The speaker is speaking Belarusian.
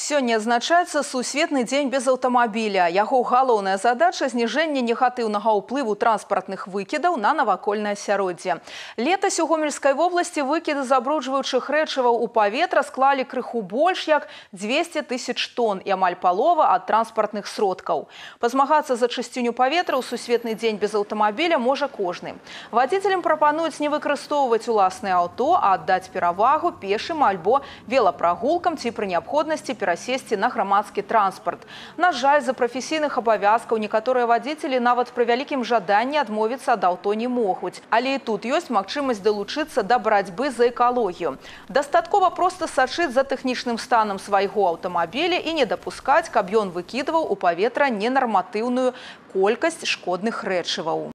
Сёння адзначаецца сусветны дзень без аўтамабіля. Яго галоўная задача – зніжэнне негатыўнага ўплыву транспартных выкідаў на навакольнае асяроддзе. Летась у Гомельскай вобласці выкіды забруджваючых рэчываў у паветра склалі крыху больш як 200 000 тонн і амаль палова ад транспартных сродкаў. Пазмагацца за чысціню паветра ў сусветны дзень без аўтамабіля можа кожны. Вадзіцелям прапануюць не выкарыстоўваць уласнае аўто, а аддаць перавагу пешым альбо велапрагулкам ці пры неабходнасці перасесці на грамадскі транспарт. На жаль, з-за прафесійных абавязкаў некаторыя вадзіцелі нават пры вялікім жаданні адмовіцца ад аўто не могуць. Але і тут ёсць магчымасць далучыцца да барацьбы за экалогію. Дастаткова проста сачыць за тэхнічным станам свайго аўтамабіля і не дапускаць, каб ён выкідваў у паветра ненарматыўную колькасць шкодных рэчываў.